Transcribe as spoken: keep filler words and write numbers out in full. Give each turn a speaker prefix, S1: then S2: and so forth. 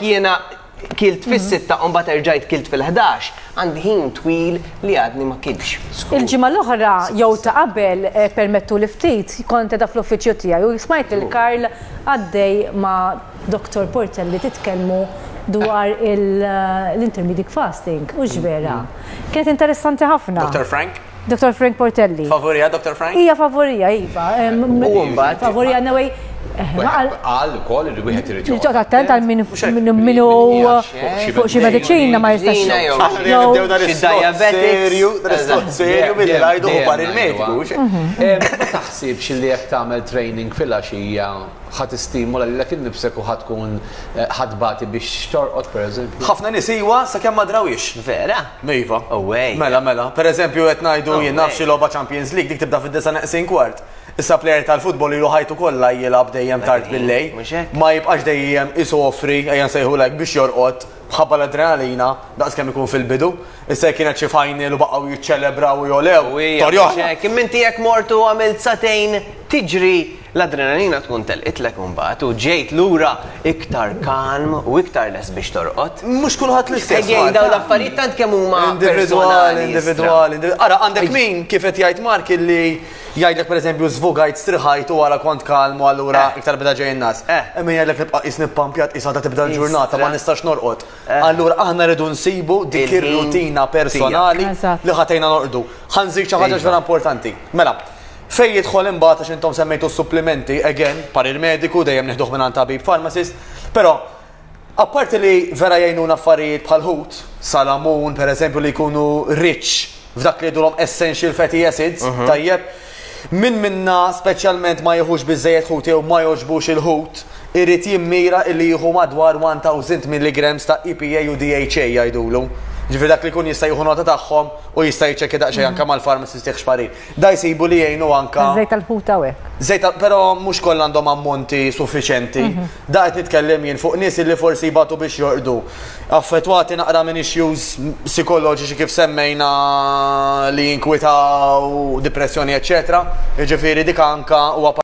S1: Jiena kilt fis-sitta u mbagħad erġajt kilt fil-ħdax, għandi ħin twil li għadni ma kiltx.
S2: Il-ġimgħa l-oħra jew ta' qabel, eh, permettu li ftit, kont da fl-uffiċċju tiegħi u smajt lil Karl għaddej ma' Doctor Portelli titkellmu dwar il- l-intermediate fasting, u vera. Kienet interessanti ħafna.
S3: Doctor Frank?
S2: Doctor Frank Portelli.
S3: Favorija, Doctor Frank?
S2: Hija favorija, iva. Em,
S1: U mbagħad-
S2: Favorija, anyway. eh, ma qal-
S4: Qal ukoll li wieħed irid
S2: Joqgħod attent għal min min min hu fuq xi mediċina ma jistax.
S1: Mediċina jew-
S2: jew-
S3: Nibdew dan
S1: Xi
S3: is-slot
S1: diabetics.
S3: serju, dan is-slot serju billi ngħidu hu parir mediku. mhux hekk?
S4: Ma taħsibx li jekk tagħmel training fil-għaxija ħa tistimula lilek innifsek u ħa tkun eh, ħa tbati biex torqod, pereżempju?
S3: Ħafna nies iwa sakemm ma drawix.
S1: Vera?
S3: Iva.
S1: Away.
S3: Mela, mela. Per eżempju, qed ngħidu jien naf xi logħba Champions League, dik tibda fid-disa neqsin kwart. Issa player tal-futbol ilu ħajtu kollha jilgħab dejjem tard bil-lejl.
S1: Mhux hekk?
S3: Ma jibqax dejjem isofri, ejja nsejħulek, biex jorqod bħabba l-adrenalina daqs kemm ikun fil-bidu. Issa kienet xi final u baqgħu jiċċelebraw u jolew.
S1: U hija
S3: Storja oħra.
S1: mhux hekk. Imma inti jekk mortu għamilt sagħtejn tiġri, l-adrenalina tkun telqitlek mbagħad u ġejt lura iktar kalm u iktar les biex torqod.
S3: Mhux kulħadd l-istess.
S1: Again,
S3: Mark.
S1: dawn l-affarijiet tant kemm huma
S3: Individuali,
S1: personali,
S3: individuali. individu- Ara, għandek min kif qed jgħid Mark illi jgħidlek, pereżempju, żvugajt, striħajt u wara kont kalmu, allura
S1: Eh.
S3: iktar beda ġej in-nas.
S1: Eh.
S3: Imma jgħidlek nibqa' qisni ppampjat, qisha ta' tibda l-ġurnata, ma
S1: Istra.
S3: nistax norqod. Allura aħna rridu nsibu dik
S1: Il-ħin
S3: ir-rutina personali
S2: Eżatt.
S3: li ħa tgħinna norqdu. Ħa nżid xi ħaġa vera importanti. Mela, fej jidħol imbagħad, għax intom semmejtu supplimenti, again, parir mediku, dejjem nieħduh minn tabib pharmacist, però apparti li vera jgħinuna affarijiet bħal ħut, salamun, per eżempju, li jkunu rich f'dak li jgħidulhom essential fatty acids, tajjeb, min minna speċjalment ma jieħux biżejjed ħut jew ma jogħġbux il-ħut, irid jimmira illi jieħu madwar elf milligrams ta' E P A u D H A jgħidulu. Ġifieri dak li kun jista' jieħu nota tagħhom u jista' jiċċekkja daqsxejn anke mal-pharmacist jieħx parir. Da jsibu li jgħinu anka.
S2: Żejt tal-ħut hawnhekk.
S3: Zejta, però mhux kollha għandhom ammonti suffiċenti. Da qed nitkellem jien fuq nies li forsi jbatu biex jorqdu. Affettwati naqra minn issues psikoloġiċi kif semmejna li jinkwitaw, depressjoni, eċetera. Jiġifieri dik anka huwa